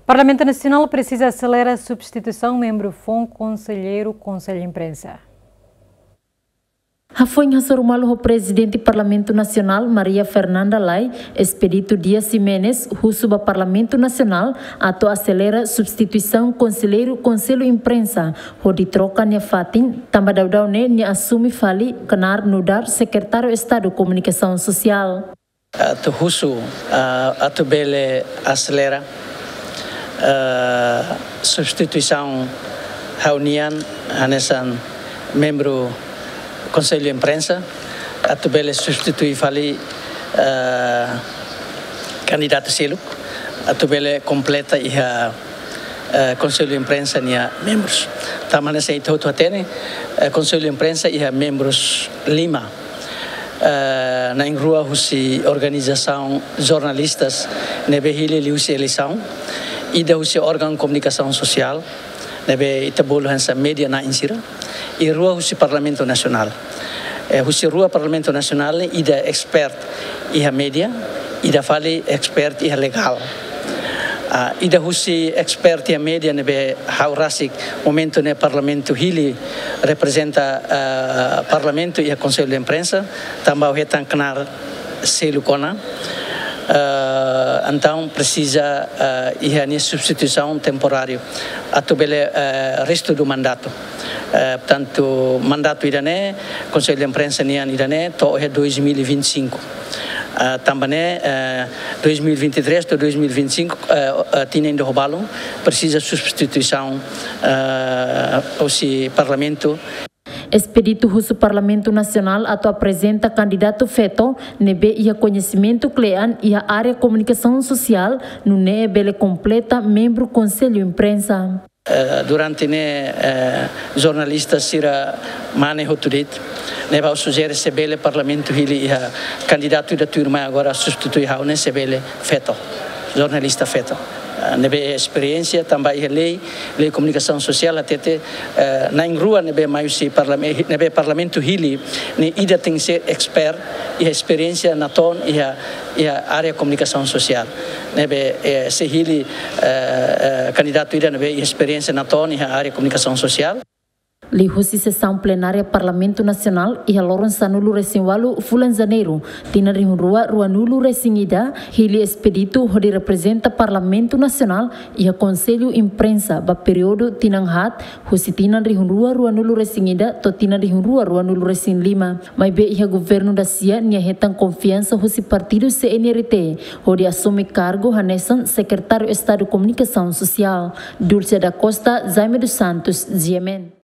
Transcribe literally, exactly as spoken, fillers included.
Parlamentu Nasionál presiza aselera substituisaun membru foun konselleiru Konsellu Imprensa. Hafoin hasoru malu ho Prezidente Parlamentu Nasionál, Maria Fernanda Lay, Expedito Dias Ximenes husu ba Parlamentu Nasionál atu aselera substituisaun konselleiru Konsellu Imprensa, hodi troka nia fatin, tanba daudaun ne'e nia asume fali knaar nu'udar Sekretáriu Estadu Komunikasaun Sosiál. Atu husu, ah, atu bele aselera, ah, substituisaun ha'u-nian hanesan membru Konsellu Imprensa, atu bele substitui fali, ah, kandidatu seluk, atu bele kompleta iha, ah, Konsellu Imprensa nia membrus. Tanba hanesan ita hotu hatene, ah, Konsellu Imprensa iha membrus lima. Eh, na'in-rua husi organizasaun jornalistas ne'ebé hili liuhusi eleisaun, ida husi órgaun komunikasaun sosiál ne'ebé ita bolu hanesan média na'in sira, i rua husi Parlamentu Nasionál. Eh, husi rua Parlamentu Nasionál ne'e ida expert iha média, ida fali expert iha legál. Ah, ida husi expert iha média ne'ebé ha'u rasik momentu ne'e Parlamentu hili reprezenta, ah, Parlamentu iha Konsellu Imprensa, tanba ha'u hetan knaar seluk ona. Ah, entaun presiza, ah, iha nia substituisaun temporáriu atu bele, ah, restu do mandatu. Eh, portantu, mandatu ida-ne'e, Konsellu Imprensa nian ida-ne'e, to'o iha dois mil e vinte e cinco. Ah, tanba ne'e, eh, dois mil e vinte e três to'o dois mil e vinte e cinco, eh, eh, tinan ida ho balun, presiza substituisaun, eh, husi Parlamentu. Expedito husu Parlamentu Nasionál atu aprezenta kandidatu feto ne'ebé iha koñesimentu kle'an iha área komunikasaun sosiál, nune'e bele kompleta membru Konsellu Imprensa. Eh, durante ne'e, eh, jornalista sira mane hotu de'it, ne'ebé ha'u sujere se bele Parlamentu hili iha kandidatu ida tuirmai agora substitui ha'u ne'e se bele feto, jornalista feto. Eh, ne'ebé esperiénsia tanba iha lei, lei komunikasaun sosiál hatete, eh, na'in-rua ne'ebé mai husi parlame-, ne'ebé Parlamentu hili ne'e ida tenke ser expert, iha esperiénsia natoon iha, iha área komunikasaun sosiál. Ne'ebé, eh, se hili, eh, eh, kandidatu ida ne'ebé iha esperiénsia natoon iha área komunikasaun sosiál. Liuhusi sesaun plenária Parlamentu Nasionál iha loron sanulu-resin-ualu fulan Janeiru, tinan rihun rua ruanulu-resin-ida, hili Expedito hodi reprezenta Parlamentu Nasionál iha Konsellu Imprensa ba períodu tinan haat, husi tinan rihun rua ruanulu-resin-ida to'o tinan rihun rua ruanulu-resin-lima. Maibé iha governu dasia nia hetan konfiansa husi partidu C N R T, hodi asume kargu hanesan Sekretáriu Estadu Komunikasaun Sosiál. Dulce da Costa, Jaime dos Santos, G M N.